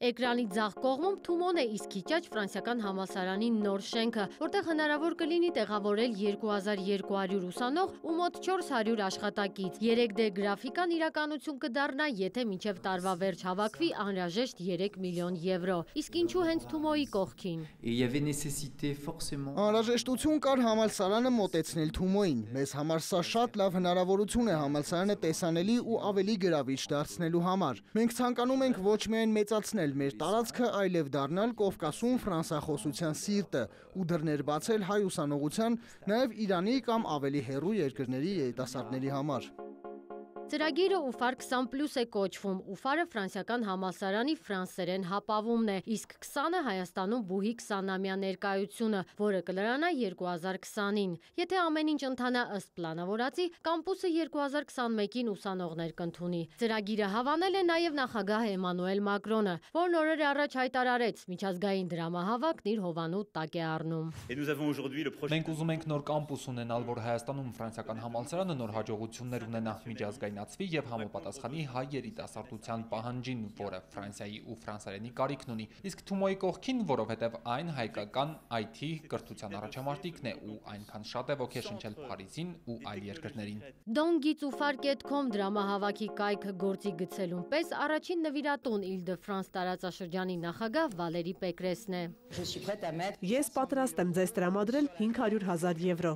Էկրանի ձախ կողմում Թումոն է, իսկ քիչ ֆրանսիական համալսարանի նոր շենքը, որտեղ հնարավոր կլինի տեղավորել 2200 ուսանող ու մոտ 400 աշխատակից։ 3D գրաֆիկան իրականություն կդառնա, եթե մինչև տարվա վերջ հավաքվի անհրաժեշտ 3 միլիոն եվրո։ Իսկ ինչու հենց Թումոյի կողքին։ Անհրաժեշտություն կար համալսարանը մոտեցնել Թումոյին։ Մեզ համար սա շատ լավ հնարավորություն է համալսարանը տեսանելի ու ավելի գրավիչ դարձնելու համար։ Մենք ցանկանում ենք ոչ միայն մեծացնել մեր տարածքը, այլև դառնալ Կովկասում ֆրանսախոսության սիրտը ու դռներ բացել հայ ուսանողության, նաև Իրանի կամ ավելի հեռու երկրների երիտասարդների համար։ Ծրագիրը UFAR 20+ է կոչվում։ UFAR-ը ֆրանսիական համալսարանի ֆրանսերեն հապավումն է, իսկ 20-ը Հայաստանում բուհի 20-ամյա ներկայությունը, որը կլրանա 2020-ին։ Եթե ամեն ինչ ընթանա ըստ պլանավորածի, կամպուսը 2021-ին ուսանողներ կընդունի։ Ծրագիրը հավանել է նաև նախագահ Էմանուել Մակրոնը, որն օրեր առաջ հայտարարեց՝ միջազգային դրամահավաքն իր հովանու տակ է առնում։ Մենք ուզում ենք նոր կամպուս ունենալ, որ Հայաստանում ֆրանսիական համալսարանը նոր հաջողություններ ունենա միջազգային եւ համապատասխանի հայ երիտասարդության պահանջին, որը Ֆրանսիայի ու ֆրանսերենի կարիքն ունի, իսկ Թումոյի կողքին, որովհետև այն հայկական IT կրթության առաջամարտիկն է ու այնքան շատ է ոգեշնչել Փարիզին ու այլ երկրներին։ Dongitsufar.com դրամահավաքի կայքը գործի գցելուն պես առաջին նվիրատուն Île-de-France տարածաշրջանի նախագահ Վալերի Պեկրեսն է։ Ես պատրաստ եմ ձեզ տրամադրել 500,000 եվրո։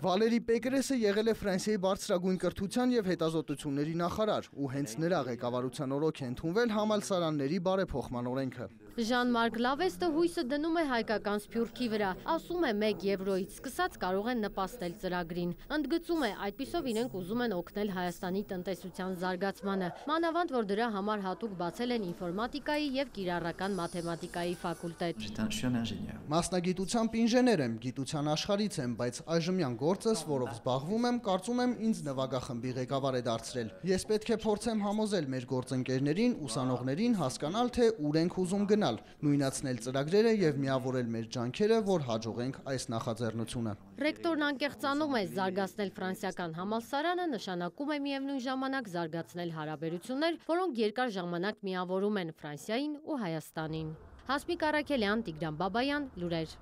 Վալերի Պեկրեսը եղել է Ֆրանսիայի բարձրագույն կրթության և հետազոտությունների նախարար ու հենց նրա ղեկավարության օրոք է ընդունվել համալսարանների բարեփոխման օրենքը։ Ժան-Մարկ Լավեստը հույսը դնում է հայկական սփյուռքի վրա, ասում է 1 եվրոյից սկսած կարող են նպաստել ծրագրին։ Ընդգծում է, այդպիսով իրենք ուզում են օգնել Հայաստանի տնտեսության զարգացմանը, մանավանդ որ դրա համար հատուկ բացել են ինֆորմատիկայի և կիրառական մաթեմատիկայի ֆակուլտետ։ Մասնագիտությամբ ինժեներ եմ, գիտության աշխարհից եմ, բայց այժմյան գործս, որով զբաղվում եմ, կարծում եմ ինձ նվագախմբի ղեկավար է դարձրել։ Ես պետք է փորձեմ համոզել մեր գործընկերներին, ուսանողներին հասկանալ, թե ուր ենք ուզում գնալ, նույնացնել ծրագրերը եւ միավորել մեր ջանքերը, որ հաջողենք այս նախաձեռնությունը։ Ռեկտորն անկեղծանում է, զարգացնել ֆրանսիական համալսարանը նշանակում է միևնույն ժամանակ զարգացնել հարաբերություններ, որոնք երկար ժամանակ միավորում են Ֆրանսիային ու Հայաստանին։ Հասմիկ Առաքելյան, Տիգրան Բաբայան, լուրեր։